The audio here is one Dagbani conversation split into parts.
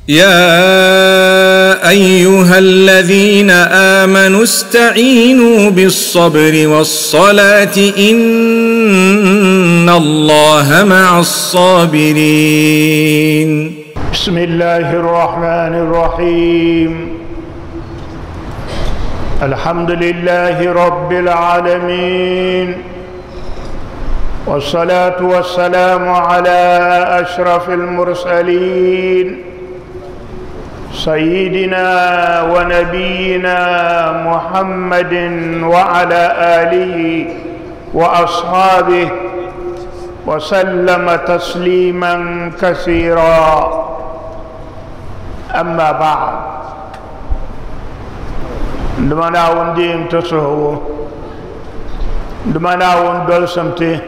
يا أيها الذين آمنوا استعينوا بالصبر والصلاة إن الله مع الصابرين. بسم الله الرحمن الرحيم. الحمد لله رب العالمين، والصلاة والسلام على أشرف المرسلين، سيدنا ونبينا محمد وعلى آله وأصحابه وسلم تسليما كثيرا. أما بعد، دمنا ونديم تسهو، دمنا وندل سمتي،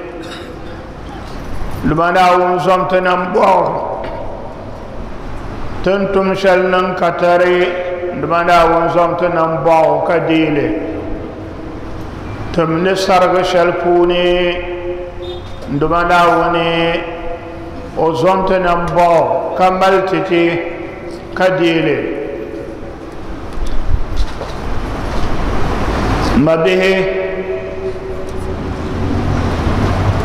دمنا ونزمتنا مبار تنتم شلنن كتري، دمنا ونزمتنا مبار كديلي تمني سرغ شلفوني، دمنا وني وزمتنا مبار كملتتي كديلي ما به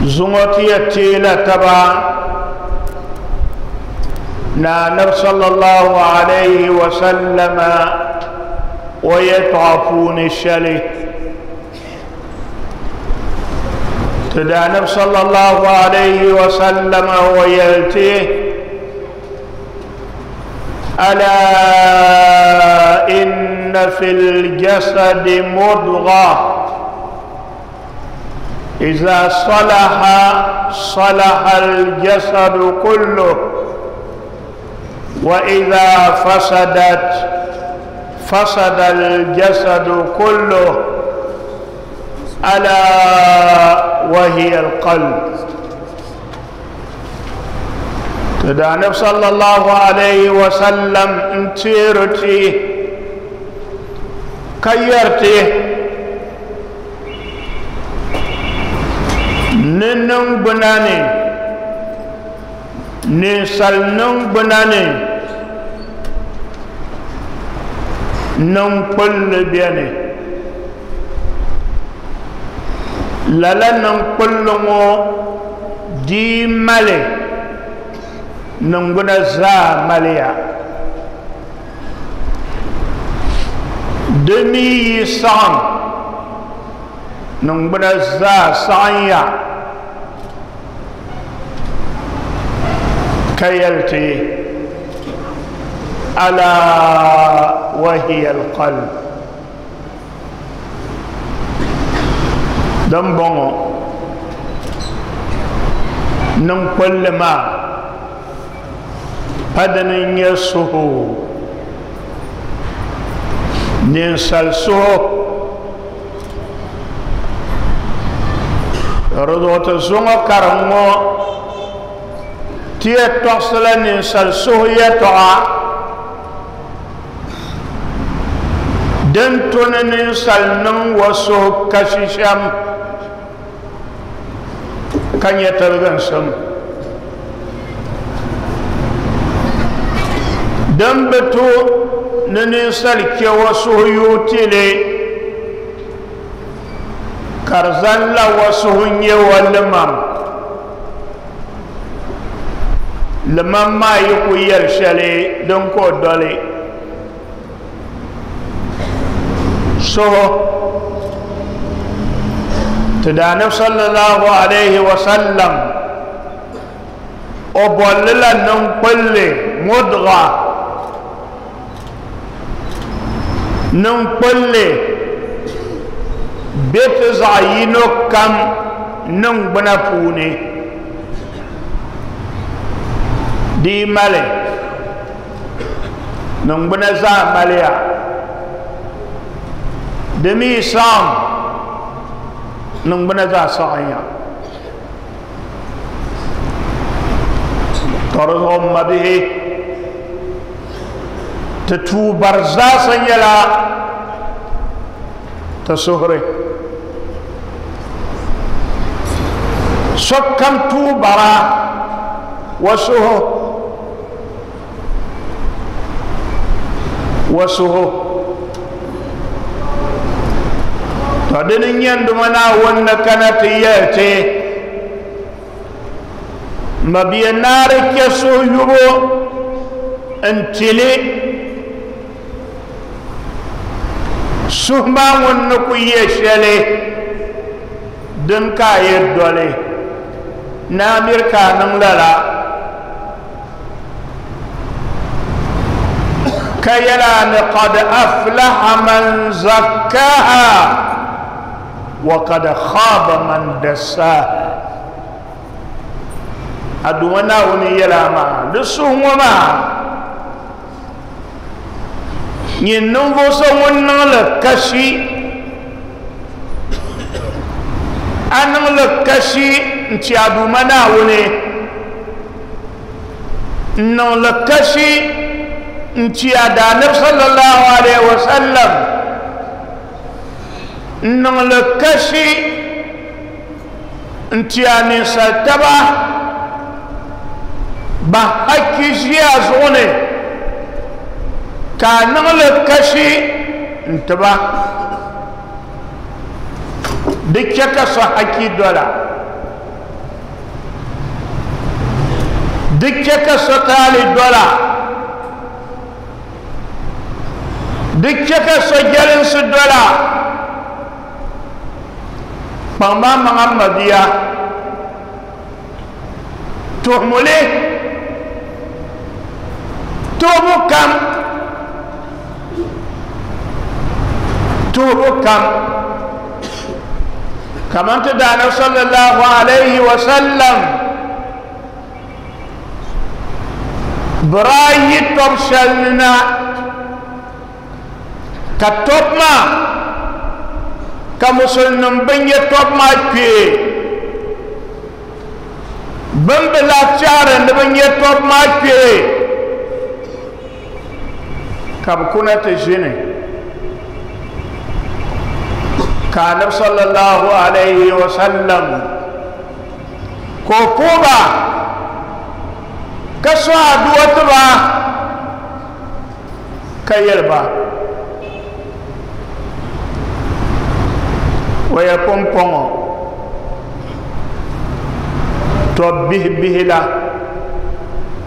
زمتي تيلا تبع نبي صلى الله عليه وسلم ويطعفون الشلي تدع نبي صلى الله عليه وسلم ويلتي ألا إن في الجسد مضغة إذا صلح صلح الجسد كله، وإذا فسدت فسد الجسد كله، ألا وهي القلب. تدع النبي صلى الله عليه وسلم انتيرتي كيرتي ننن بناني نسال نن بناني نن كل بياني لالا نن كل مو دي مالي ننغنا زا ماليا دمي سان ننغنا زا سانيا كيلتي ألا وهي القلب. دمبونو ننقل ما padani nyɛ suhu ninsal suhu rizuɣu zuŋɔ karim ŋɔ tiɛ tɔɣisila ninsal suhu yɛtɔɣa din tuni ninsal niŋ wa suhu kashi shɛm ka nyɛ tiliginsim din bi tu ni ninsal kɛ wa suhu yuutili ka di zaŋ la wa suhu nyɛ wa limam limam maa yi ku yɛli shɛli din ka o doli suhu ti daanab sallallahu alayhi wa sallam o bolli la niŋkpulli mudga niŋkpulli be ti zaɣ yino kam niŋgbuna puuni di mali niŋgbuna zaa maliya di mi saɣam niŋgbuna zaa saɣanya to di zuɣu m mabihi ti tuubar zaasa nyɛla ti suhuri sokam tuubara wa suhu Wa suhu to dini n-nyɛ n-duma Naawuni ni kana ti yɛli ti mabia naari chɛ suhuyubu n-tili suhu maa ŋun ni ku yɛ shɛli din ka a yɛ doli naa miri ka a niŋ lala ka yɛla ni qad aflaha man zakkaha wa qad khaba man dassaha. A Duuma Naawuni yɛla maa di suhu ŋɔ maa nyin ninvuɣ so ŋun niŋli kashi, a niŋli kashi n-ti a Duuma Naawuni, n-niŋli kashi n-ti a Daanabi sallallahu alaihi wasallam, n-niŋli kashi n-ti a ninsal taba ba hakki ʒi a zuɣu ni ka a niŋli kashi n-ti ba di chɛ ka so hakki dola di chɛ ka so taali dola di chɛ ka so jɛlinsi dola kpaŋma maŋa mabia tuhumuli tuhubu kam tuhubu kam kaman ti daana sallallahu alaihi wa sallam bɛ yi tɔb shɛli ni na ka tɔb maa ka musulnim bin nyɛ tɔb maa kpee bin bi lahi tɛhiri ni bi nyɛ tɔb maa kpee ka bi kuna ti ʒini ka anabi sallallahu alaihi wa sallam ka o puhi ba ka so aduwa ti ba ka yɛli ba o yɛ pumpɔŋɔ tɔb bihi bihi la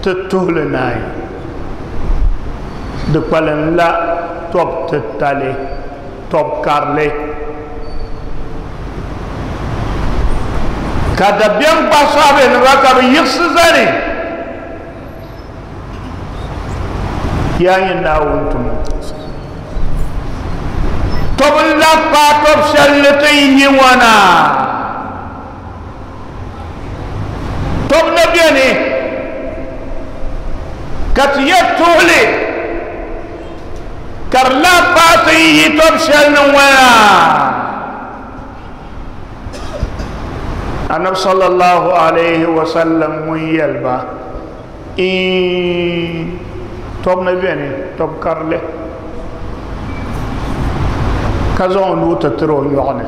ti tuhili naai di kpalim la tɔb titali tɔb karili ka dabiɛm gbahi sahabenima ka bi yiɣisi zani yaa nyini Naawuni tumo tɔb n lahi paai tɔb shɛli ni ti yi ŋɔ na tɔb na beni ka ti yɛ tuhili ka di lahi paai ti yi tɔb shɛli ni ŋɔ na Annabi sallallahu alaihi wa sallam ŋun yɛli ba tɔb na beni tɔb karili ka zaŋ o nuu ti tiri o nyɔɣu ni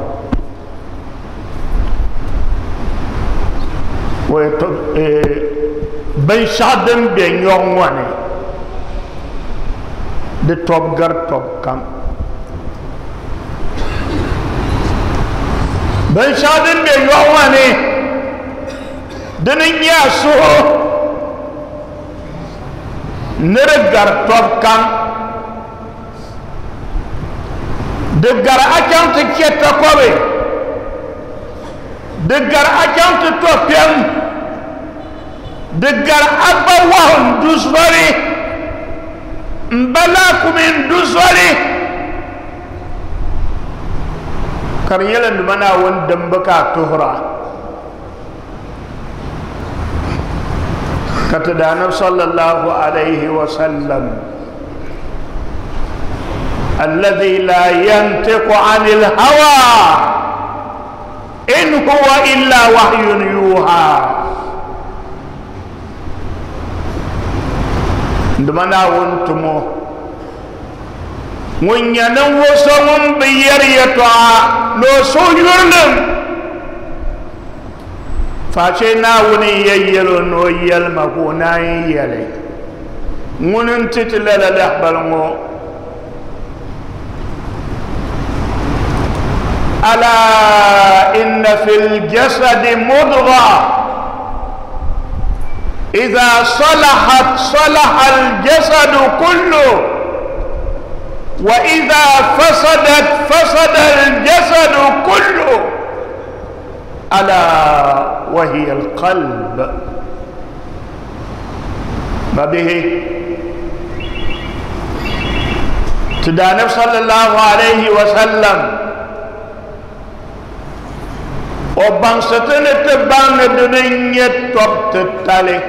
binshɛɣu din be nyɔɣu ŋɔ ni di tɔb gari tɔb kam binshɛɣu din be nyɔɣu ŋɔ ni dini n-nyɛ a suhu ni di gari tɔb kam di gari a chaŋ ti chɛ takɔbi di gari a chaŋ ti tɔ kpɛm di gari a gba wahu n-du zoli n-ba laakumi n-du zoli ka di nyɛla nima Naawuni dimbi ka a tuhira ka ti Daanabi sallallahu alaihi wa sallam alladhi la yantiqu anil hawa in huwa illa wahyun yuha nduma Naawuni tumo ŋun nyɛ ninvuɣ so ŋun bi yɛri yɛtɔɣa ni o suhu yurilim face Naawuni n-yɛ yɛl o ni o yɛlima ka o naan yɛli ŋuni n-ti ti lala lahibali ŋɔ. ألا إن في الجسد مضغة إذا صلحت صلح الجسد كله وإذا فسدت فسد الجسد كله ألا وهي القلب. ما به تدانب صلى الله عليه وسلم وبانستن تبان دنيا توب تتالي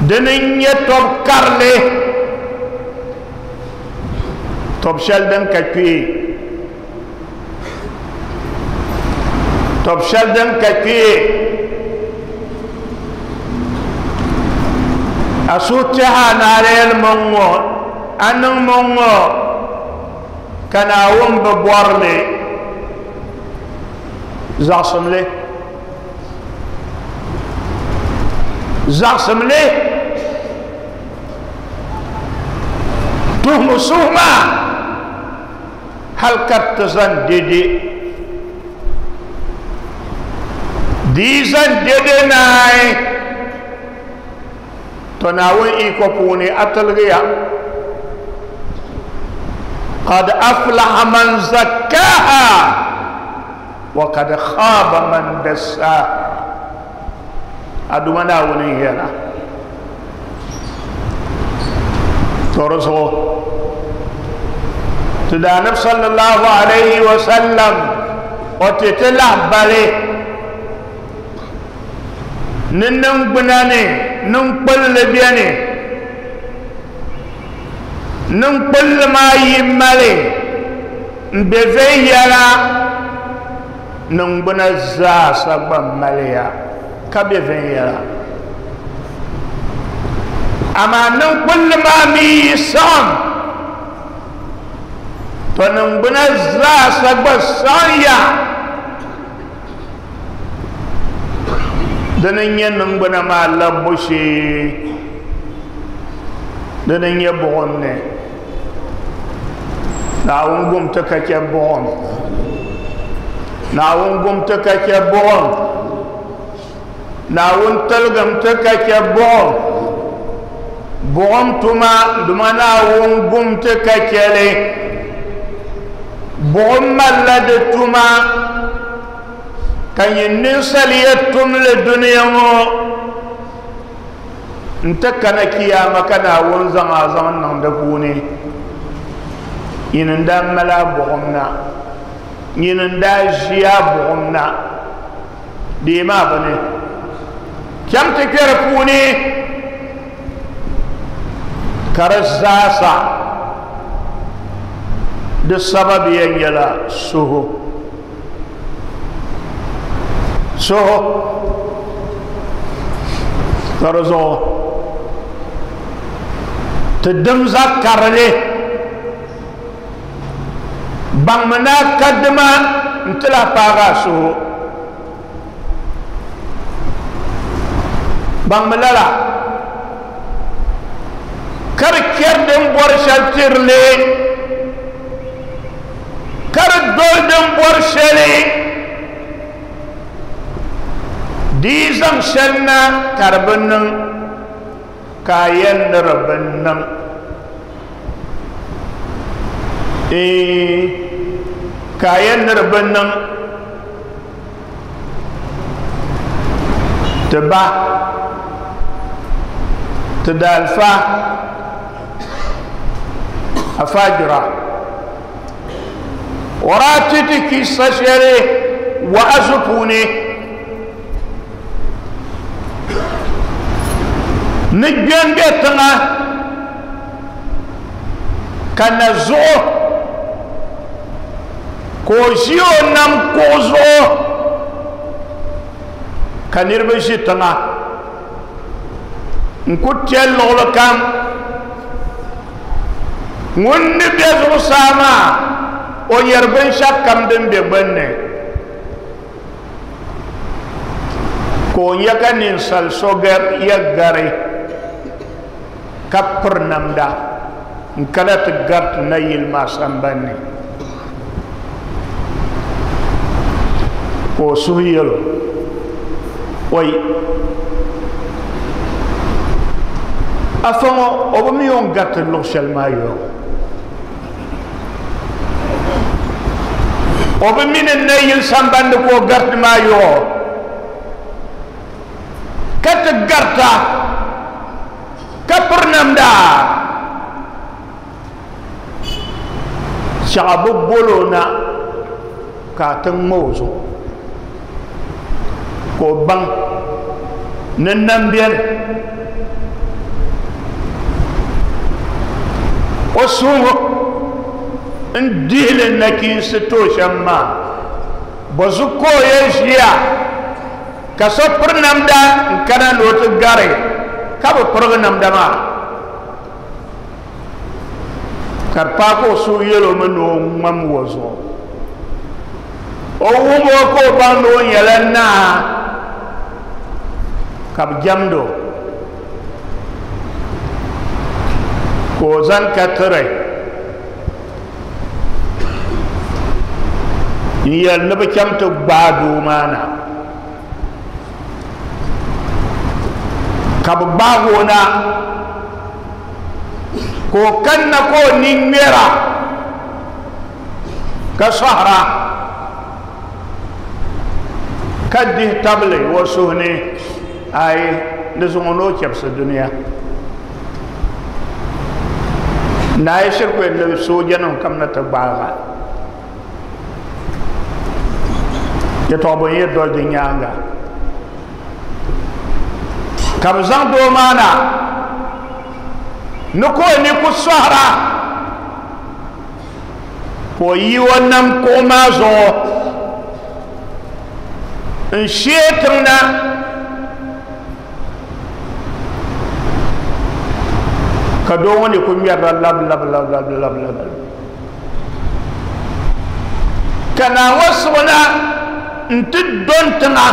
دنيا توب كارلي توب شلدن كاكي توب شلدن كاكي أسوتها ناريل منغو أنن منغو كناوم ببورلي زعصم لي زعصم لي تهم سهما هل كتزن ديدي ديزن ديدي ناي تناوي إيكو بوني أتلغيا قد أفلح من زكاها وقد خاب من دساها. أدوما وني هنا ترسو تدانب صلى الله عليه وسلم وتتلع بالي ننن بناني ننقل بياني ننقل ما يمالي بفيلا ننبنا زاسا بماليا كبفيلا أما ننقل ما ميسان تننبنا زاسا بسانيا دنيا ننبنا ما لبشي دنيا بغني ناونغم تكاكي بغن ناونغم تكاكي بغن ناون تلغم تكاكي بغن بغن تما دما ناونغم تكاكي لي بغن ملد تما كان ينسل يتم للدنيا انت كان كياما كان ونزان ازان نندفوني ينندا ملا بغمنا ينندا جيا بغمنا ديما بني كم تكرفوني كرزاسا دي السبب ينجلا سهو سهو كرزو تدمزا كرلي بان منا قدما انتلا باغا سهو بان ملالا كركير دم بورشال تيرلي كردول دم بورشالي ديزم شلنا كربنن كاين ربنن إيه كاين ربنن تبا تدالفا أفاجرا وراتتك سشري وأزفوني نجن بيتنا كان زو كوزيو نم كوزو كان يربشي تنا نكوتيل لغلقام ŋun ni be zuɣusaa maa o yɛri binshɛɣu kam din be gbunni ka o nyɛ ka ninsal so yɛ gari ka piri namda n kana ti gariti nayili maa sambanni. Ka o suhu yɛlo oi afa ŋɔ o bi mi o ni gariti luɣ shɛli maa yɔɔ o bi mi ni nayili sambani ka o gariti maa yɔɔ ka ti garita ka piri namda shɛɣa bi bolo na ka a ti ŋma o zuɣu ka o baŋ ni nam beni o suhu n dihili nachiinsi to shɛm maa bɔzu ka o yɛn ʒiya ka so piri namda n kana ni o ti gari ka bi pirigi namda maa ka di paai ka o suhu yɛl o mi ni o ŋmam o zuɣu o wum o ka o baŋ ni o nyɛla naa ka bi jɛmdi o ka o zani ka tiri n yɛli ni bi chaŋ ti gbaai doo maa na ka bi gbaagi o na ka o kanna ka o ni ŋmɛra ka sɔhira ka dihi tabili o suhu ni ayi ni zuŋɔ ni o chɛbisi dunia nayi shiri ku yɛn ni soojanima kamina ti gbaaga yɛtɔɣa bɔ n-yɛn doli di nyaaŋa ka bɛ zaŋ doo maa na ni ka o ni ku sɔhira ka o yi o nam kuɣu maa zuɣu n shee tiŋ na ka doo ŋɔ ni ku ŋmɛrila lab lab lab lab lab lab ka naa ŋɔ siɣina n ti don tiŋa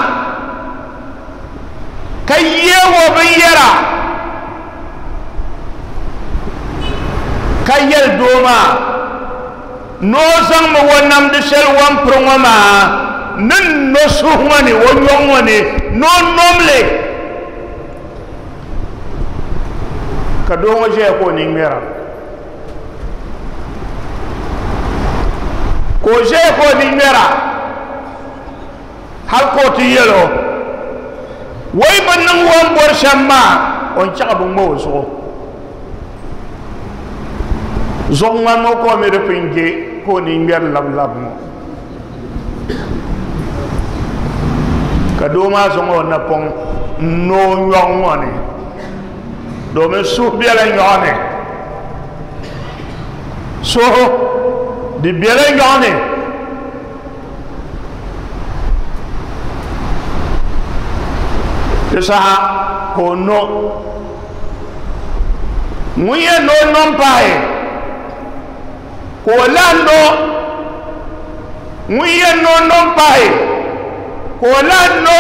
ka yeeg o binyɛra ka yɛli doo maa ni o zaŋmi o namdi shɛli o ni piri ŋɔ maa ni no suhu ŋɔ ni o nyɔɣu ŋɔ ni ni o nomli ka doo ŋɔ ʒɛya ka o ni ŋmɛra ka o ʒɛya ka o ni ŋmɛra hali ka o ti yɛl o wai bi niŋ o ni bɔri shɛm maa o ni chaɣi bi ŋma o zuɣu zuɣu ŋmani ŋɔ ka o mi di pun je ka o ni ŋmɛri labilabi ŋɔ ka doo maa zaŋ o napɔŋ n no o nyɔɣu ŋɔ ni domin suhu bela nyɔɣu ni suhu di bela nyɔɣu ni di saha ka o no ŋun yɛn no o no pahi ka o lahi no ŋun yɛn no o no pahi ka o lahi no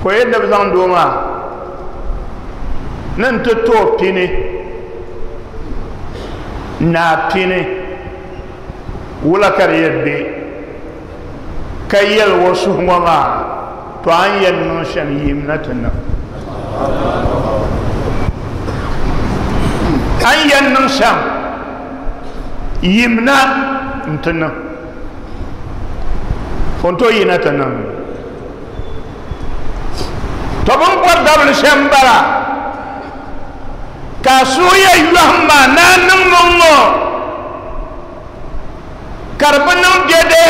ka o yɛn ni bi zaŋ doo maa ni n ti to o pini naa pini wula ka di yɛn be ka yɛli o suhu ŋɔ maa to a ni yɛn niŋ shɛm yim na ti niŋ a ni yɛn niŋ shɛm yim na n ti niŋ o ni tooi yina ti niŋ to bɛ ni bɔri dabili shɛm m-bala ka a suhu yɛn yɔhim ma ni a niŋmi ŋ-ŋɔ ka di bi niŋ dɛde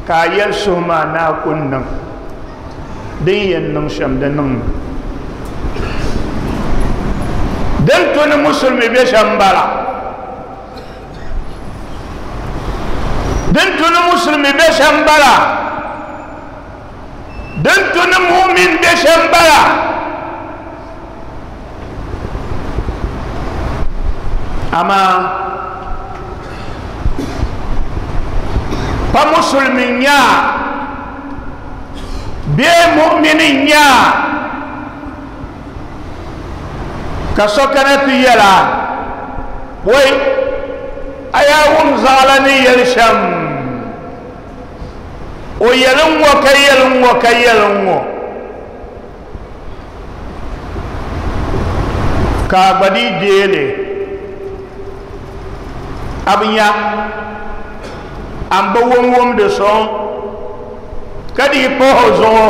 ka a yɛli suhu maa ni a ku niŋ din yɛn niŋ shɛm di niŋmi din tu ni musulimi be shɛm m-bala din tu ni musulimi be shɛm m-bala din tu ni mumin be shɛm m-bala amaa pa musulimi n-nya bee mu'mini n-nya ka so kana ti yɛla wai a yaa wum zaɣila ni yɛli shɛm O yɛli n ŋɔ ka yɛli n ŋɔ ka yɛli n ŋɔ ka a gba dii deeli a bi nya a ni bi wum wumdi sɔŋ ka dii pahi o zuɣu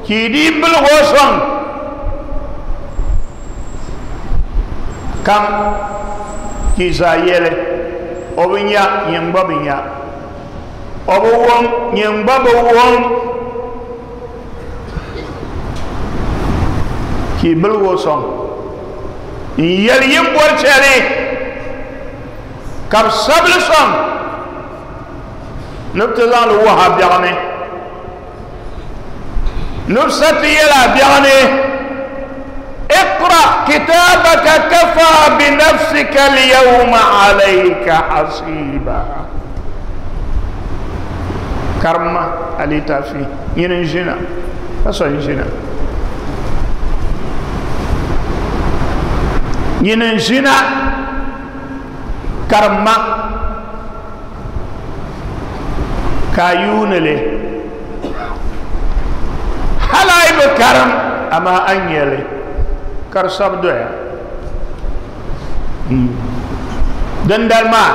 ka i dii biligi o sɔŋ kam ka i zaa yɛli o bi nya nyin gba bi nya o bi wum nyin gba bi wum ka i biligi o sɔŋ n yɛli yin bɔri shɛli ka bi sabili sɔŋ ni bi ti zaŋli wuhi a biɛɣu ni ni bi sa ti yɛli a biɛɣu ni اقرأ كتابك كفى بنفسك اليوم عليك حسيبا karima a litaafi nyini n ʒina ka so n ʒina nyini n ʒina karimma ka a yuuni li hali a yi bi karim amaa a ni nyɛli ka di sabi doya dindali maa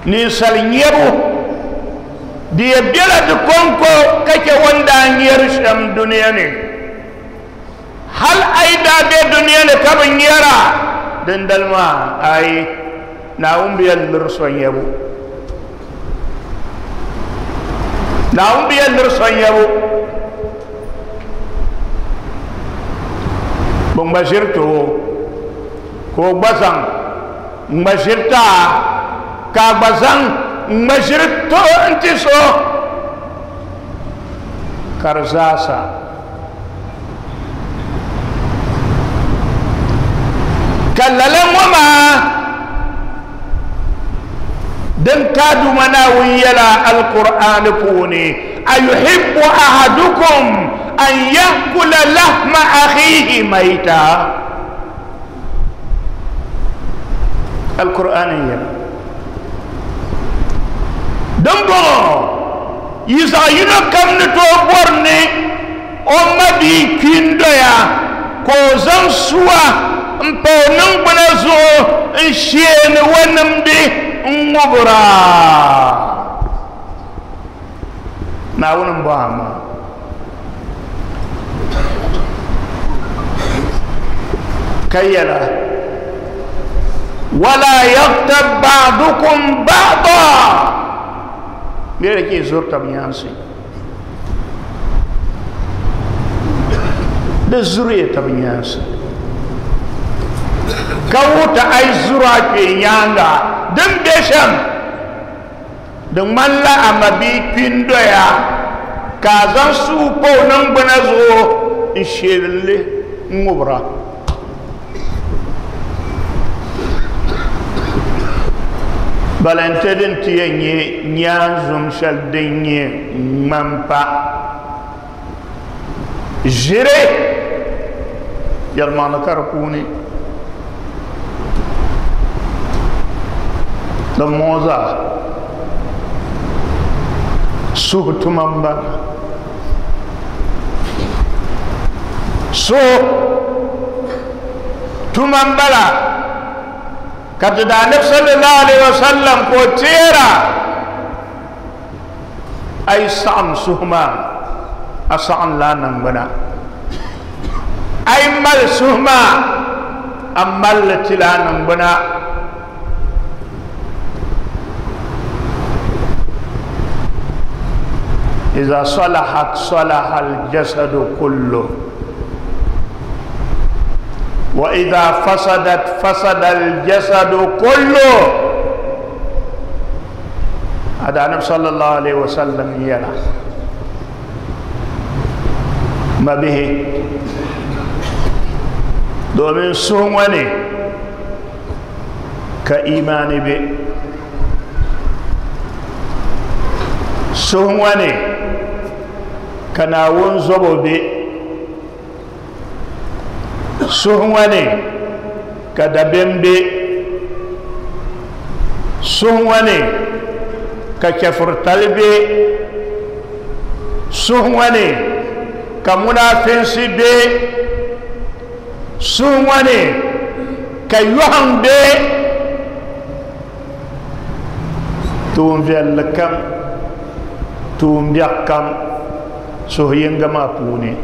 ninsal nyɛbu di yɛ bela di kɔŋko ka chɛ o ni daa nyɛri shɛm dunia ni. Hal a yi daa be dunia ni ka bi nyɛra, dindali maa ayi, Naawuni bi yɛn liri so nyɛbu. Naawuni bi yɛn liri so nyɛbu. Bɛ ŋma ʒiri ti o, ka o gba zaŋ ŋma ʒiri ti a, ka a gba zaŋ ŋma ʒiri ti o n-ti so, ka di zaasa. Ka lala ŋɔ maa din ka a Duuma Naawuni yɛla Alkur'aani puuni, Ayuhibbu ahadukum an ya'kula lahma akhihi mayta. Alkur'aani n-yɛla. Dimbɔŋɔ yi zaɣ yino kam ni tooi bɔri ni o ma bia kpi n-doya ka o zaŋ sua m-pa o niŋgbuna zuɣu n-sheeni o nimdi n-ŋubira. Naawuni m-bɔhi a maa. Ka yɛla, Wala yaghtab ba'dukum ba'da, miri ka yi zuri tab nyaansi. Di zuriya tab nyaansi. Ka wuhi ti a yi zuri a kpee nyaaŋa din be shɛm. Di ŋmanila a mabia kpi n-doya ka a zaŋ sua pa o niŋgbuna zuɣu n-sheeli li ŋ-ŋubira. Balante din ti yɛn nyɛ nyaanzum shɛli din nyɛ ŋmampa ʒiri yɛlimaŋli ka di puuni din ŋɔ zaa suhu tuma n bala suhu tuma n bala ka ti daa nabi sallallahu alaihi wasallam ka o teera A yi saɣim suhu maa, a saɣimla a niŋgbuna. A yi mali suhu maa, a mali li tila a niŋgbuna. Iza salahat salaha al-jasadu kullu wa iza fasadat fasada al-jasadu kullu. A da anabi sallallahu alaihi wasallam yɛla mabihi domin suhu ŋɔ ni ka imaani be suhu ŋɔ ni ka Naawuni zobo be Suhu ŋɔ ni ka dabiɛm be. Suhu ŋɔ ni Ka chɛfuritali be suhu ŋɔ ni, ka munafinsi be suhu ŋɔ ni, ka yɔhim be. Tuun viɛlli kam, tuun biɛɣu kam suhu yinga maa puuni.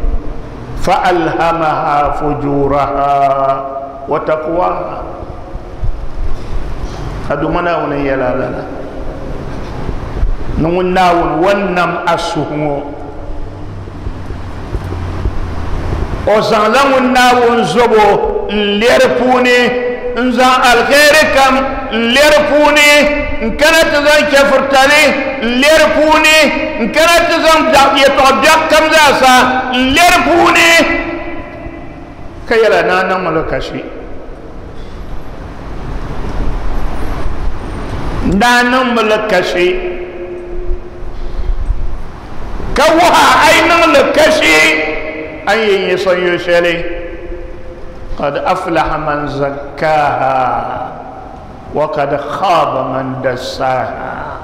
Fa alhamaha fujuraha wa taqwaha. A Duuma Naawuni n yɛla lala ni ŋun Naawuni wan nam a suhu ŋɔ, o zaŋla ŋun Naawuni zobo n lɛri puuni, n zaŋ alheri kam n lɛri puuni, n kana ti zaŋ chɛfuritali n lɛri puuni, n kana ti zaŋ yɛltɔɣa biɛɣu kam zaasa n lɛri puuni, ka yɛla naa niŋmi li kashi, naa niŋmi li kashi, ka wuha a yi niŋ li kashi a ni yɛn nyɛ sonyo shɛli. Qad aflaha man zakkaha wa qad khaba man dassaha.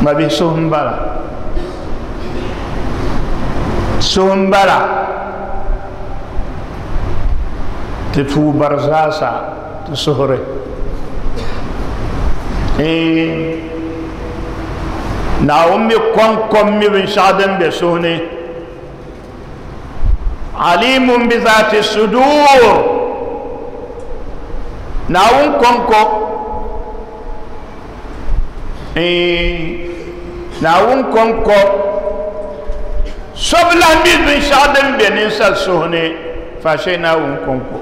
Mabihi, suhu n bala, suhu n bala. Ti tuubar zaasa ti suhuri Naawuni mi kɔŋkɔm mi binshɛɣu din be suhu ni. Alimun bi zati sudur. Naawuni kɔŋko, Naawuni kɔŋko so bi lahi mi binshɛɣu din be ninsal suhu ni faashee Naawuni kɔŋko.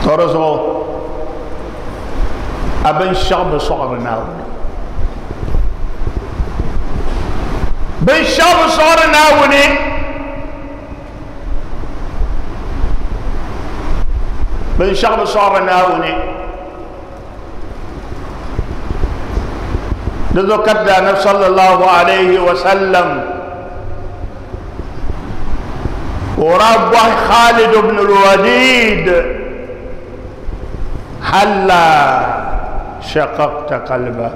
Tɔri zuɣu a binshɛɣu bi sɔɣiri Naawuni, binshɛɣu bi sɔɣiri Naawuni. Binshɛɣu bi sɔɣiri Naawuni. Di zuɣu ka ti Anabi sallallahu alayhi wa sallam o daa bɔhi Khalid ibn al-Walid: halla shaqaqta qalba?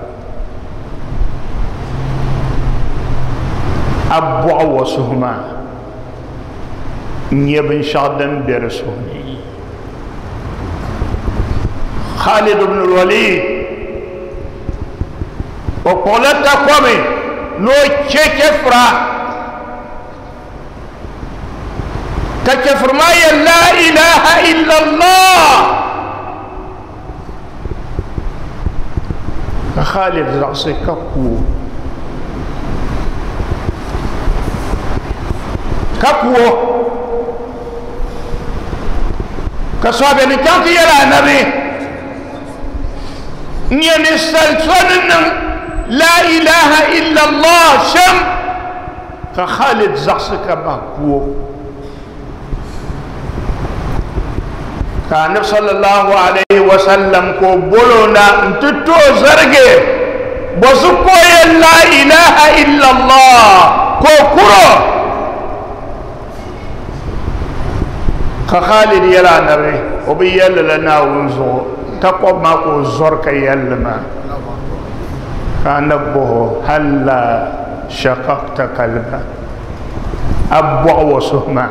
A bɔɣi wa suhu maa n nyɛ binshɛɣu din be di suhu ni. Khalid ibn al-Walid o kpuɣila takobi ni o chɛ chɛfura, ka chɛfuri maa yɛ la ilaha illallah, ka Khalid zaɣisi ka ku o, ka ku o. Ka sɔhibe ni chaŋ ti yɛli Anabi n nyɛ ninsal so ni niŋ la ilaha illallah shɛm, ka Khalid zaɣisi ka bahi ku o. Ka Anabi sallallahu alayhi wa sallam ka o bolo na n ti to o zarigi bɔzu ka o yɛli la ilaha illallah ka o kuro. Ka Khalid yɛli Anabi o bi yɛlli la Naawuni zuɣu, takobi maa ka o zɔri ka yɛlli maa. Ka Anabi bɔhi o: halla shaqaqta qalba? A bɔɣi wa suhu maa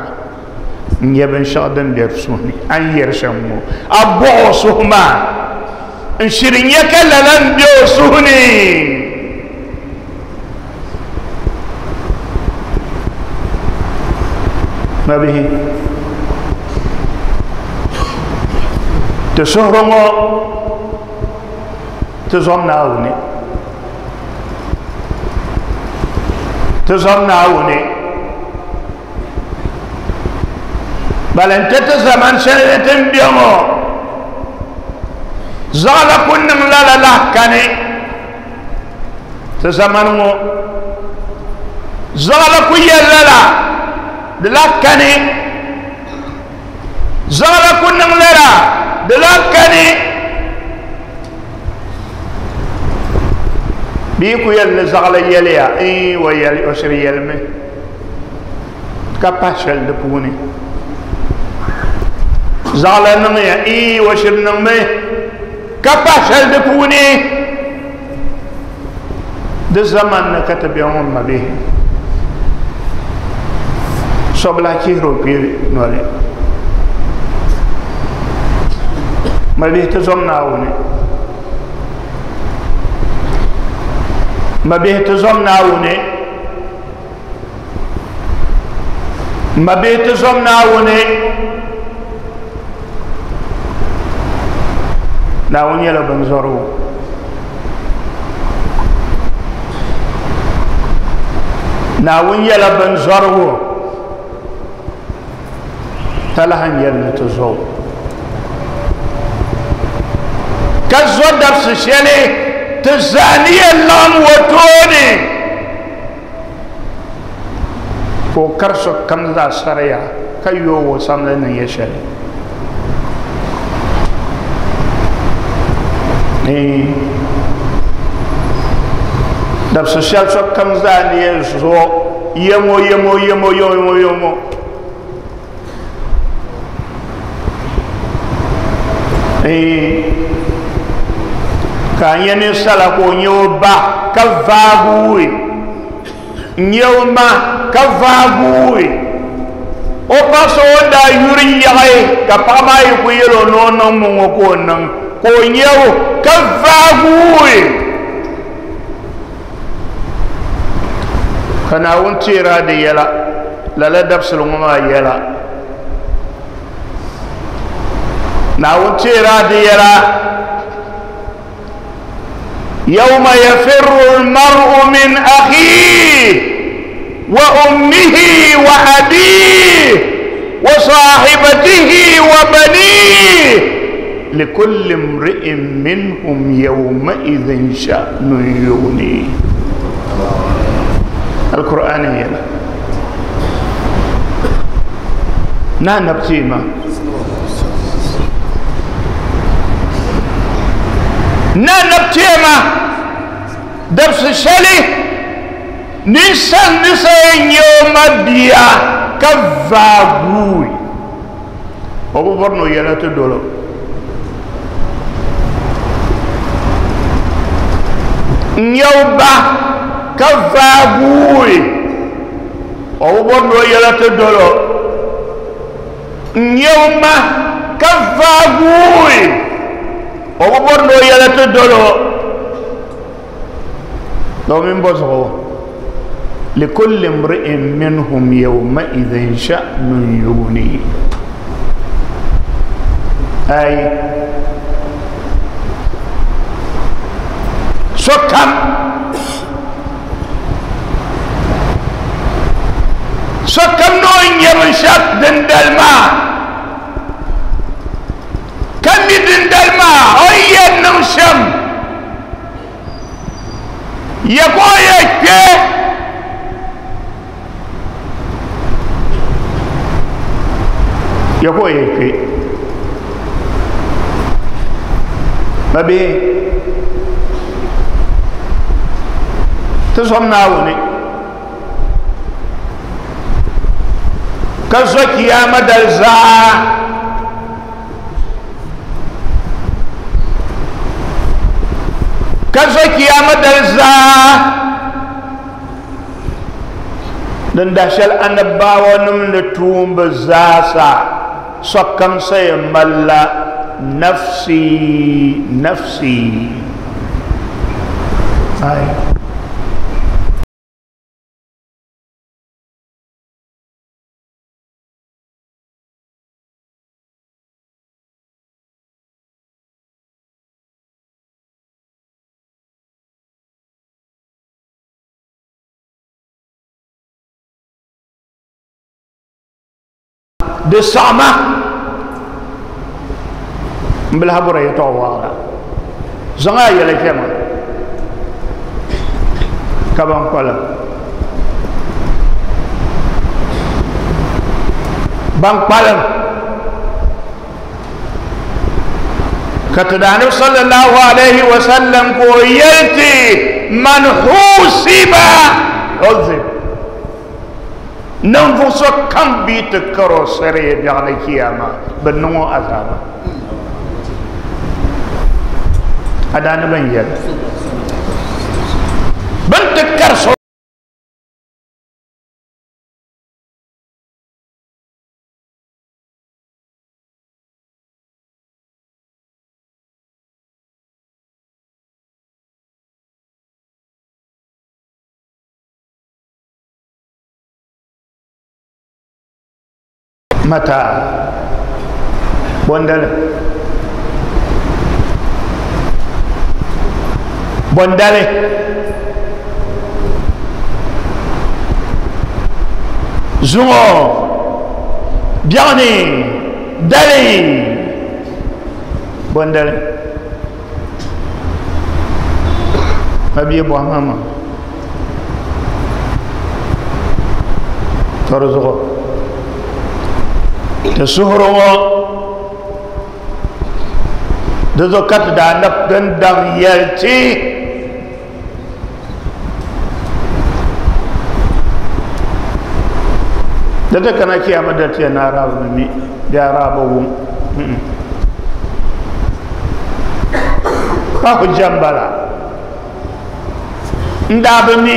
n nyɛ binshɛɣu din be suhu ni a ni yɛri shɛm ŋɔ, a bɔɣi o suhu maa n shiri nyɛ ka lala n be o suhu ni. Mabihi, ti suhuri ŋɔ ti zɔm Naawuni, ti zɔm Naawuni. Balante ti zaman shɛli ni ti ni be ŋɔ zaɣila ku niŋ lala lahi kani. Ti zamani ŋɔ zaɣila ku yɛli lala di lahi kani, zaɣila ku niŋ lala di lahi kani. Bɛ ku yɛli ni zaɣila yɛliya o yɛli o shiri yɛlimi ka pahi shɛli di puuni. Zaɣala niŋya ii o shiri niŋmi ka pa shɛli di puuni di zaman ni ka ti bɛ ŋɔ ma bihi sobila chihiri o kpee noli ma bihi ti zom Naawuni ma bihi ti zom Naawuni ma bihi ti zom Naawuni Naawuni nyɛla binzɔrigu Naawuni nyɛla binzɔrigu talahi n-yɛli ni ti zo ka zo dabisi shɛli ti zaa ni yɛn laɣim o tooni ka o kari sokam zaa sariya ka yooi o samli niŋ ya shɛli dabisi shɛli sokam zaa ni yɛn zo yɛmo yɛmo yɛmo yɛmo yɛmo ka a nyɛ ninsala ka o nyɛ o ba ka vaaguui n nyɛ o ma ka vaaguui o paɣa so o ni daa yuri yaɣi ka paɣa maa yi ku yɛl o ni o niŋ mi ŋɔ ka o niŋ ka o nyɛ o ka vaaguui ka Naawuni teera di yɛla lala dabisili ŋɔ maa yɛla Naawuni teera di yɛla yawma yafirru almar'u min akhihi wa ummihi wa abihi wa sahibatihi wa banihi likulli imri'in minhum yawma'idhin sha'nun yughnihi alqur'ani yɛla na nabtima na nabtima dabsi shɛli ninsal ni sa yɛn nyɛ o ma bia ka vaaguui o bi bɔri ni o yɛla ti dolo n nyɛ o ba ka vaaguui o bi bɔri ni o yɛla ti dolo n nyɛ o ma ka vaaguui o bi bɔri ni o yɛla ti dolo domin bɔ zuɣu likulli imri'in minhum yawma'idhin sha'nun yughnihi ay sokam sokam ni o nyɛ binshɛɣu dindali maa ka mi dindali maa o ni yɛn niŋ shɛm ya ka o yɛn kpɛ ya ka o yɛn kpɛ mabihi ti zom Naawuni ka zo kiyama dali zaa ka zo kiyama dali zaa din dah shɛli annabawa nim ni tuumbi zaasa sokam sa yɛn malila nafsi nafsi ay di saɣama n bilahi bɔra yɛltɔɣa waɣala zaŋ a yɛla kpɛma ka ban kpalim ban kpalim ka ti daanib sallallahu alaihi wa sallam ka o yɛlti man husiba uzib Ninvuɣu so kam bi ti karo sariya biɛɣuni kiyama bi niŋ o azaaba. A daa ni bin yɛli bin ti kari so mata bondale bondale zuŋɔ biɛɣuni dali bondale mabia bɔhima ma tɔri zuɣu ti suhuri ŋɔ di zuɣu ka ti daa na din daŋ yɛli ti di ti kana kiyama da ti yɛn arabi bi mi bee arabi wum pa hujja n bala n daa bi mi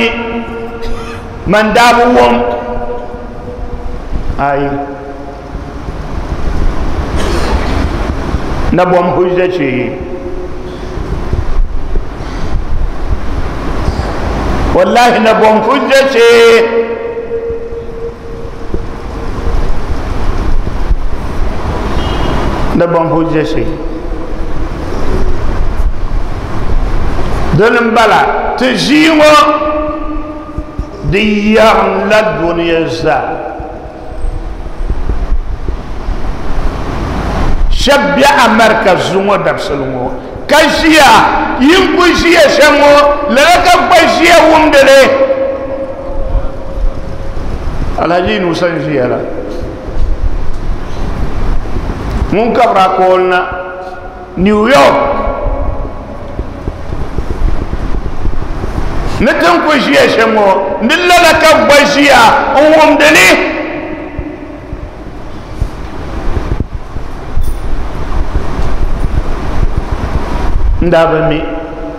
man daa bi wum ayi na bom hujja ce wallahi na bom hujja ce na bom hujja ce dini n bala ti ʒii ŋɔ di yɛrim la duniya zaa shɛba be America zuŋɔ dabisili ŋɔ ka ʒiya yin ku ʒiya shɛm ŋɔ lala ka gba ʒiya wumdili Alhaji Nusa n ʒiya la ŋun kabira kooli na New York ni tin ku ʒiya shɛm ŋɔ ni lala ka gba ʒiya n wumdili n daa bi mi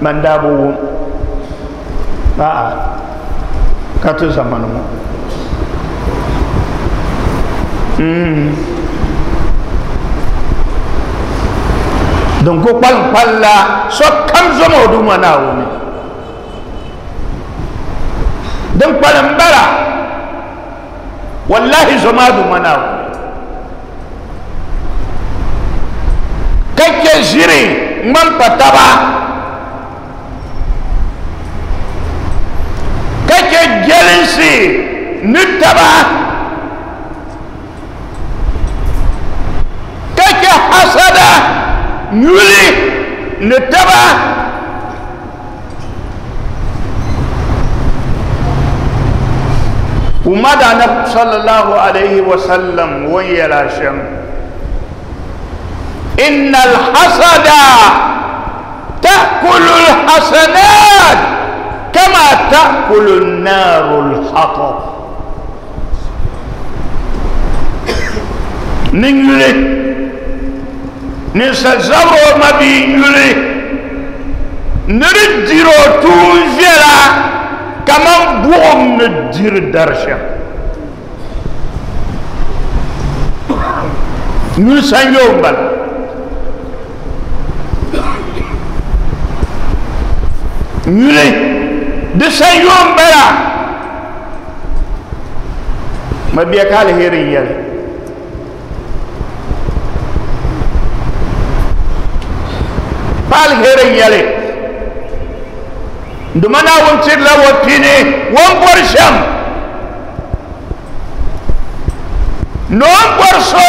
man daa bi wum a'a ka ti zamani ŋɔ din ku kpalim kpalla sokam zoma o Duuma Naawuni din kpalim bala wallahi zoma Duuma Naawuni ka chɛ ʒiri ŋmani pa taba ka chɛ jɛlinsi ni taba ka chɛ hasada nyuli ni taba umma da annabi sallallahu alaihi wasallam won yɛla shɛm inna alhasada ta'kulu alhasanat kama ta'kulu an-naru alhatab ni nyuli ninsal zabiri o mabii nyuli ni di diri o tuun viɛla kaman buɣum ni diri dari shɛm nyuli sanyoo n bala nyuli di sanyoo n bala mabia ka aliheri n yɛli pa aliheri n yɛli nduma Naawuni tirila o pini o ni bɔri shɛm ni o ni bɔri so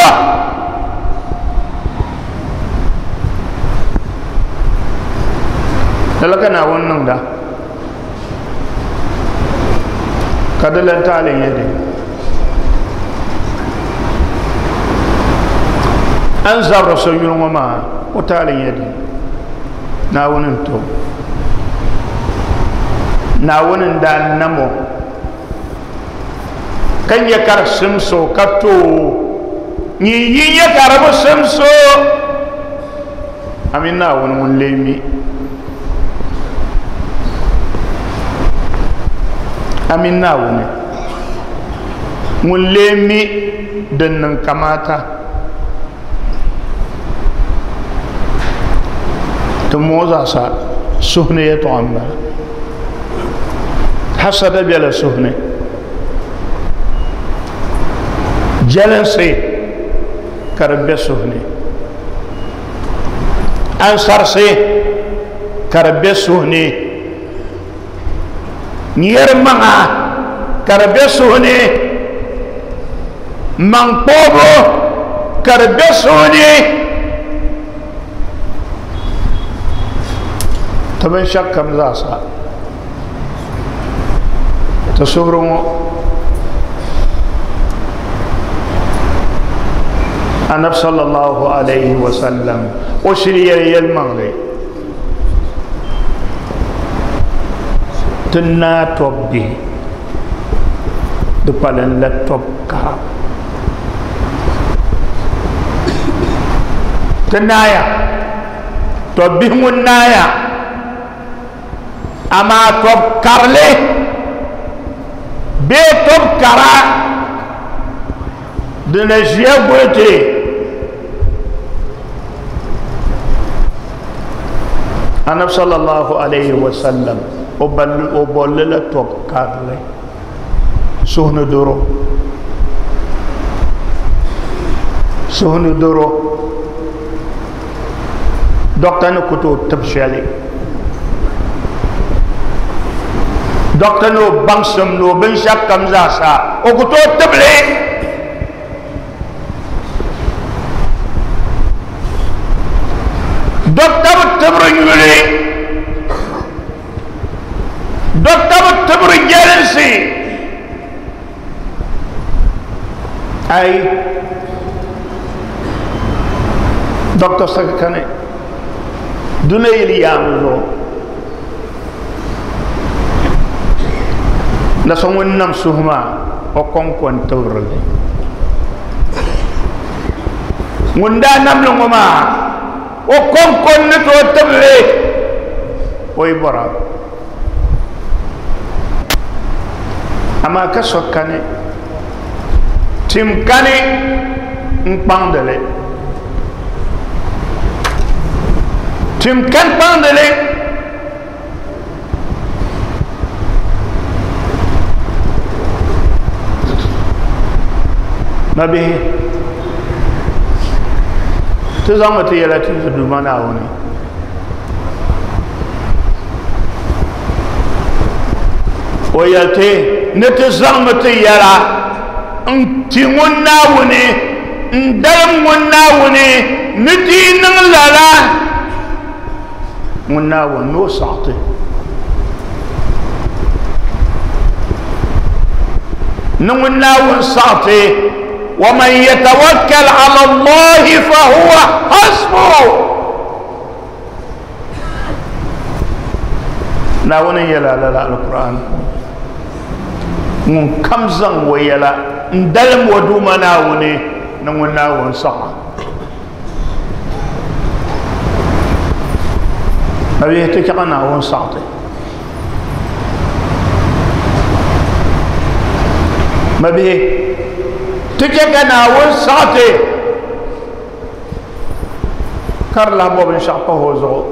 lala ka Naawuni niŋda ka di lan taali n-nyɛ di a ni zabiri so yuli ŋɔ maa o taali n-nyɛ di Naawuni n to Naawuni n daa nam o Ka nyɛ ka di simso ka too nyin yi nyɛ ka di bi simso a mini Naawuni ŋun lee mi a mini Naawuni ŋun lee mi din niŋ kamaata ti moo zaasa suhu ni yɛltɔɣa n bala hasada bɛla suhu ni jɛlinsi ka di bɛ suhu ni ansarisi ka di bɛ suhu ni nyɛri maŋa ka di bɛ suhu ni maŋ kpoobu ka di bɛ suhu ni ti binshaɣu kam zaasa ti suhuri ŋɔ anabi sallallahu alaihi wasallam o shiri yɛli yɛlimaŋli ti naa tɔb bihi di kpalim la tɔb kara ti naaya tɔb bihi ŋun naaya amaa tɔb karili bee tɔb kara di na ʒiya guli ti anabi sallallahu alaihi wasallam o bolli la tɔb karili suhu ni doro suhu ni doro dɔkta ni ku tooi tibi shɛli dɔkta ni o baŋsim ni o binshɛɣu kam zaasa o ku tooi tibili dɔkta bi tibiri nyuli dɔkta bi tibiri jɛlinsi ai dɔkta saka kani duna yili yaangi zuɣu na so ŋun nam suhu maa o kɔŋko n tibiri li ŋun daa namli ŋɔ maa o kɔŋko n ni tooi tibili o yi bɔra amaa ka so kani tim kani n kpaŋdili tim kan kpaŋdili mabihi ti zaŋmi ti yɛla ti ti Duuma Naawuni o yɛli ti ni ti zaŋmi ti yɛla n ti ŋun Naawuni n dalim ŋun Naawuni ni ti niŋ lala ŋun Naawuni ni o saɣati ni ŋun Naawuni saɣati ومن يتوكل على الله فهو حسبه Naawuni yɛla lala alquran ŋun kam zaŋ o yɛla n dalim o Duuma Naawuni ni ŋun Naawuni saɣa mabihi ti chɛka Naawuni saɣati mabihi ti chɛ ka Naawuni saɣati ka di lahi bɔ binshaɣu pahi o zuɣu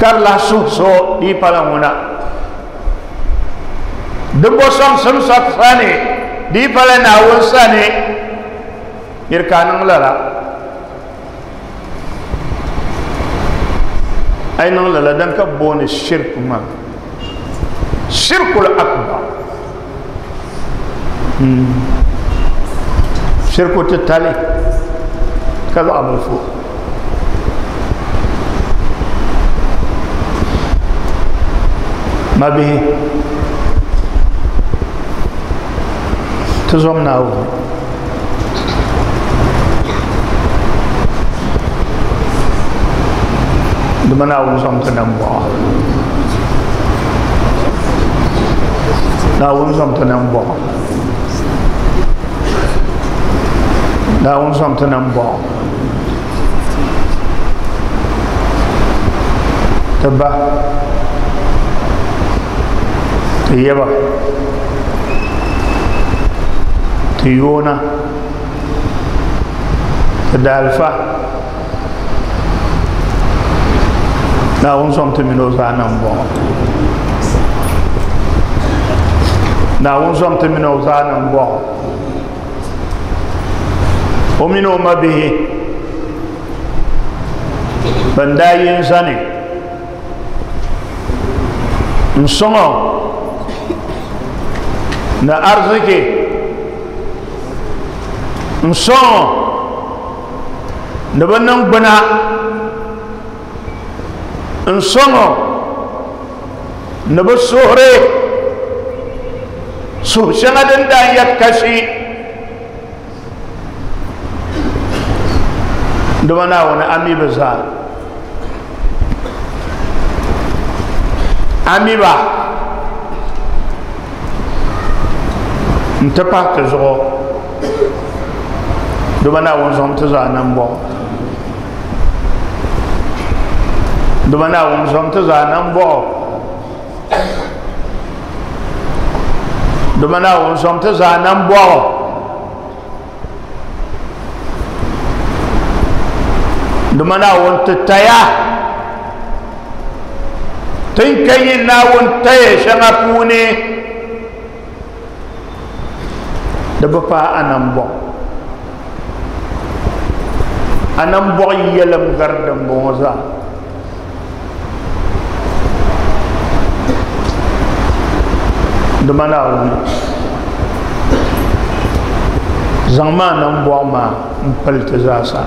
ka di lahi suhi so di yi pala ŋuna di bɔ sɔŋsim sani di yi pala Naawuni sani niri ka a niŋ lala a yi niŋ lala din ka booni shirku maa shirkul akbar shirku titali ka zaɣ bilifu mabihi ti zom Naawuni dama Naawuni zom ti nambɔɣu. Naawuni zɔm ti nambɔɣu. Naawuni zɔm ti nambɔɣu. Ti ba, ti yaba, ti yoona, ti daalifa. Naawuni zɔm ti mini o zaa nambɔɣu. Naawuni zɔm ti mini o zaa nambɔɣu. O mini o mabihi ban daa yi n zani n sɔŋ o ni ariziki n sɔŋ o ni bi niŋgbuna n sɔŋ o ni bi suhuri suhu shɛŋa din daa yɛ kashi dama Naawuni a mi bi zaa a mi ba n ti pahi ti zuɣu dama Naawuni zaŋ ti zaa nambɔɣu dama Naawuni zaŋ ti zaa nambɔɣu dama Naawuni zaŋ ti zaa nambɔɣu dama Naawuni ti taya tin ka yi Naawuni taya shɛŋa puuni di bi paai a nambɔɣu a nambɔɣu yɛlim gari dimbɔŋɔ zaa dama Naawuni zaŋ maa nambɔɣu maa n pili ti zaasa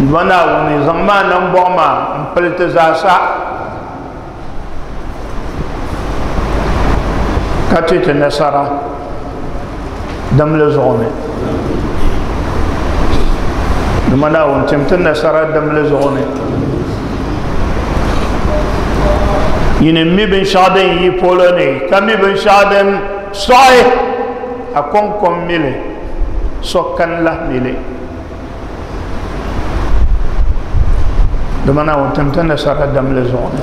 dama Naawuni zaŋ maa nambɔɣu maa n pili ti zaasa ka ti ti nasara damli zuɣu ni dama Naawuni tim ti nasara damli zuɣu ni yini mi binshaɣu din yi polo ni ka mi binshaɣu din sɔɣi a kɔŋkɔm mili so kan lahi mili dama Naawuni tim ti nasara damli zuɣu ni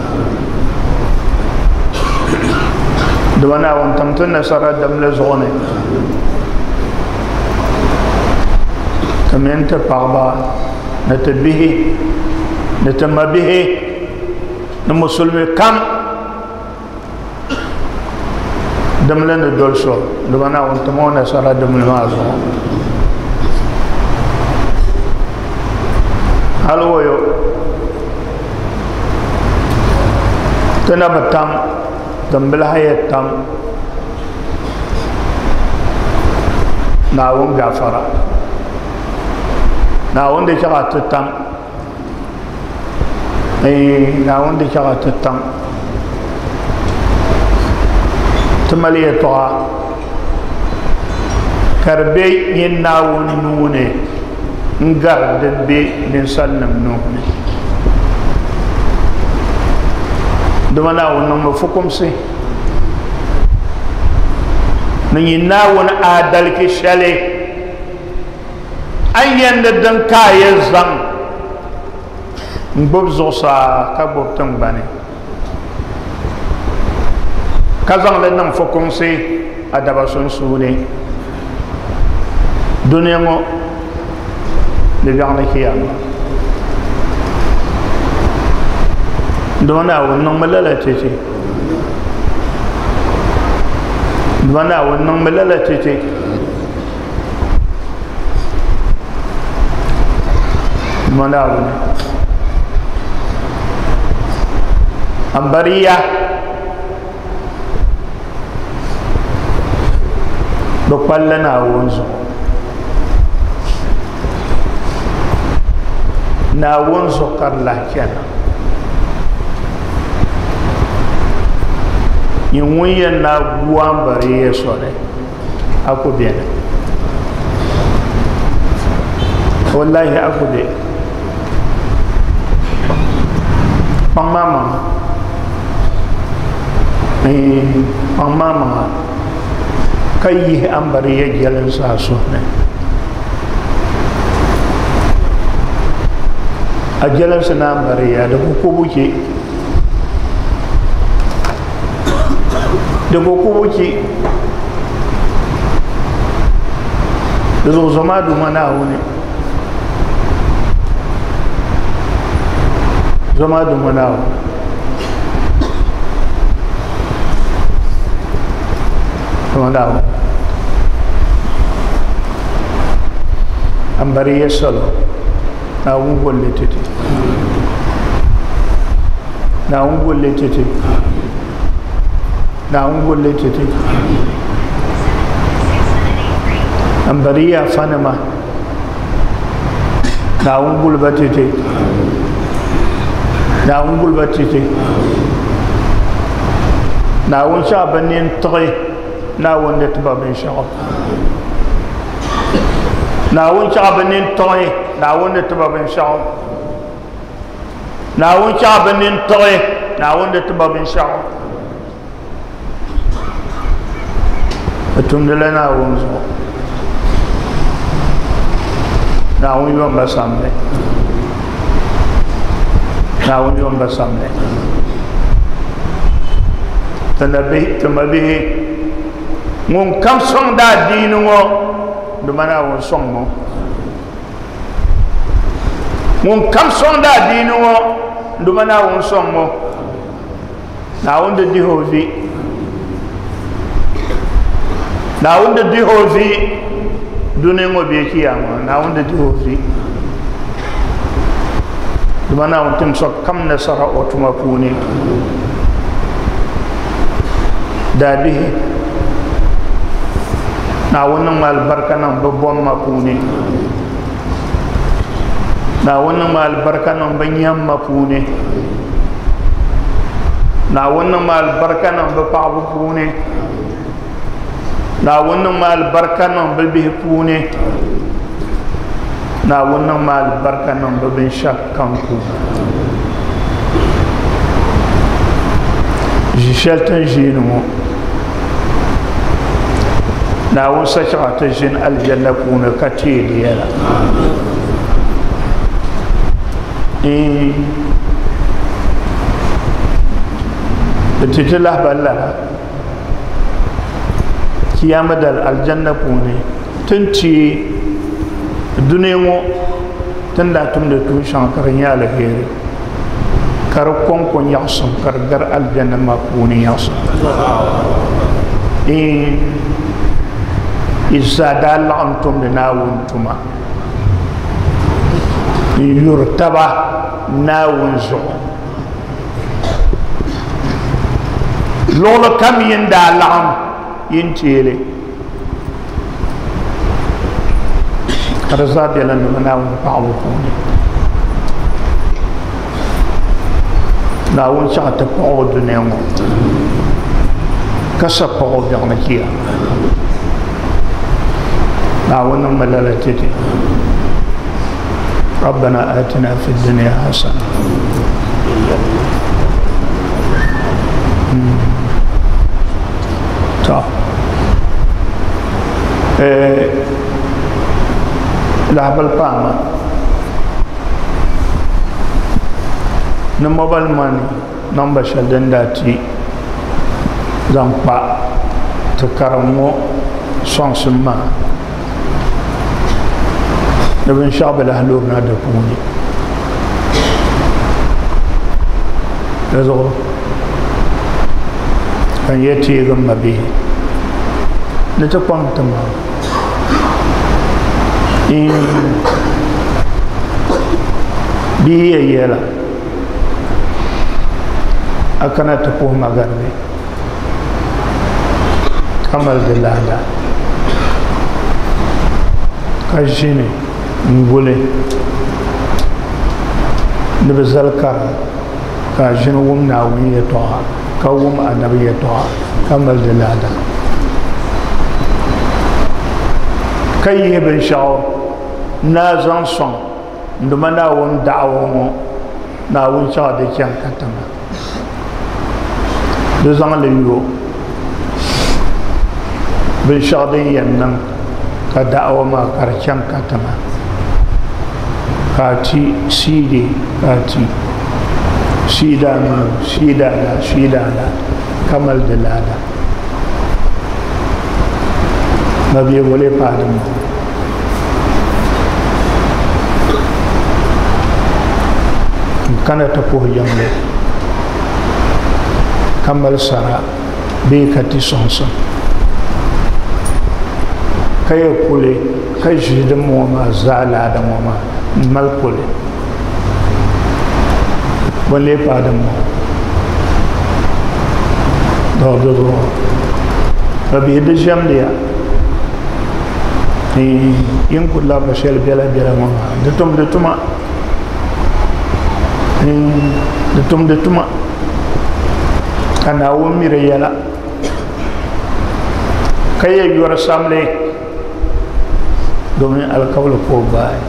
dama Naawuni tim ti nasara damli zuɣu ni ti mini ti paɣaba ni ti bihi ni ti mabihi ni musulimi kam dimli ni doli so dama Naawuni tim o nasara dimli maa zuɣu hali woyo ti na bi tam din bi lahi yɛ tam Naawuni gafara Naawuni di chaɣa ti tam Naawuni di chaɣa ti tam ti mali yɛltɔɣa ka di be nyin Naawuni nuu ni n gari din be ninsalinima nuu ni dama Naawuni niŋmi fukumsi ni nyin Naawuni aadaliki shɛli a ni yɛn ni din ka a yɛn zaŋ n gbubi zuɣusaa ka gbubi tiŋgbani ka zaŋli niŋ fukumsi a daba sunsuuni dunia ŋɔ di biɛɣu ni kiyama dama Naawuni niŋmi lala titi dama Naawuni niŋmi lala titi dama Naawuni ambariya bi kpalila Naawuni zuɣu Naawuni zuɣu ka di lahi chana nyin ŋun yɛn na gu ambariya soli a ku beni wallahi a ku be kpaŋ maa maŋa Kpaŋ maa maŋa ka yihi ambariya jɛlinsi a suhu ni. A jɛlinsi ni ambariya di ku kubu che. Di ku kubu che. Di zuɣu zoma Duuma Naawuni. Zoma Duuma Naawuni. Zoma Naawuni. Ambariya salo. Naawuni golli titi. Naawuni golli titi. Naawuni golli titi. Ambariya fanima. Naawuni guliba titi. Naawuni guliba titi. Naawuni shɛɣu bi nini tiɣi Naawuni ni tiba binshɛɣu. Naawuni shɛɣu bi nini tiɣi Naawuni ni tiba binshɛɣu. Naawuni shɛɣu bi nini tiɣi Naawuni ni tiba binshɛɣu. Bi tumdila Naawuni zuɣu. Naawuni yomba samli. Naawuni yomba samli. Ti mabihi ŋun kam sɔŋdi adiini ŋɔ dama Naawuni sɔŋ ŋɔ. Ŋun kam sɔŋdi adiini ŋɔ dama Naawuni sɔŋ ŋɔ. Naawuni di dihi o vi. Naawuni di dihi o vi dunia ŋɔ bee kiyama Naawuni di dihi o vi. Dama Naawuni tim sokam nasara o tuma puuni. Daabihi Naawuni niŋ alibarika niŋ bɛ bomma puuni. Naawuni niŋ alibarika niŋ bɛ nyamma puuni. Naawuni niŋ alibarika niŋ bɛ paɣaba puuni. Naawuni niŋ alibarika niŋ bɛ bihi puuni. Naawuni niŋ alibarika niŋ bɛ binshɛɣu kam puuni. Ʒi shɛli ti ni ʒiini ŋɔ Naawuni sachaɣa ti ʒini alijanna puuni ka teei di yɛla. Di ti ti lahibali lala kiyama dali alijanna puuni ti ni teei dunia ŋɔ ti ni daa tumdi tuun shɛŋa ka di nyɛ aliheri ka di kɔŋko nyaɣisim ka di gari alijanna maa puuni nyaɣisim. Yi zaa daa laɣim tumdi Naawuni tuma n yuri taba Naawuni zuɣu. Luɣili kam yin daa laɣim yin teeli ka di zaa bela nima Naawuni paɣibu puuni. Naawuni chaɣ ti paɣ o dunia ŋɔ ka sa paɣ o biɛɣuni kiyama. Naawuni niŋmi lala ti ti. ربنا آتنا في الدنيا حسنة. To lahabali paama ni mobile money namba shɛli din daa ti zaŋ kpa ti karim ŋɔ sɔŋsim maa ni binshɛɣu bi lahi lurina di puuni. Di zuɣu ka n yɛ teegi m mabihi ni ti kpaŋ ti maŋ bia yɛ yɛla a kana ti puhi magaribi ka mali di laada ka ʒini n guli ni bi zali kara ka a ʒini wum Naawuni yɛltɔɣa ka wum anabi yɛltɔɣa ka mali di laada ka yihi binshɛɣu n-daa zaŋ sɔŋ n-duma Naawuni da'awa ŋɔ Naawuni chaɣ di chaŋ katiŋa. Di zaŋli yo binshɛɣu din yɛn niŋ ka da'awa maa ka di chaŋ katiŋa ka a ti siidi ka a ti siida maa siida la siida la ka mali di laada mabia bole paai din bɔŋɔ n kana ti puhi jiŋli ka mali sara bee ka ti sɔŋsim ka yɛ kuli ka ʒi din ŋɔ maa zaa laada ŋɔ maa n mali kuli bɔ n lee paai din ŋɔ dɔɣi zuɣu ka bihi di ʒɛmdi ya yin ku labiri shɛli biɛla biɛla ŋɔ maa di tumdi tuma di tumdi tuma ka Naawuni mi di yɛla ka yɛ yɔri samli domin alkawli ka o gbaai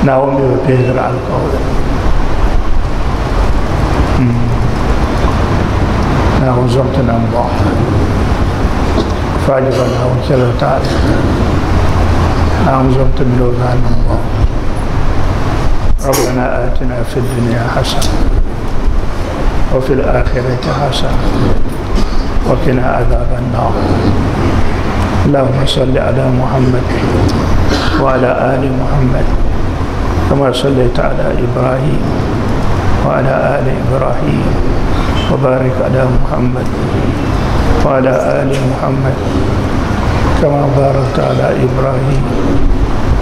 Naawuni mi bi pihigiri alkawli Naawuni zom ti nambɔɣu faajiba Naawuni chɛli o taali Naawuni zom ti mini o zaa nambɔɣu ربنا آتنا في الدنيا حسنة وفي الآخرة حسنة وقنا عذاب النار اللهم صل على محمد وعلى آل محمد كما صليت على إبراهيم وعلى آل إبراهيم وبارك على محمد وعلى آل محمد كما باركت على إبراهيم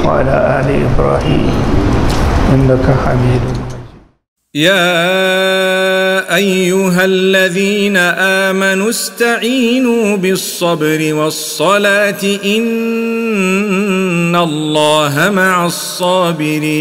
وعلى آل إبراهيم إنك حميد مجيد. يا أيها الذين آمنوا استعينوا بالصبر والصلاة إن الله مع الصابرين.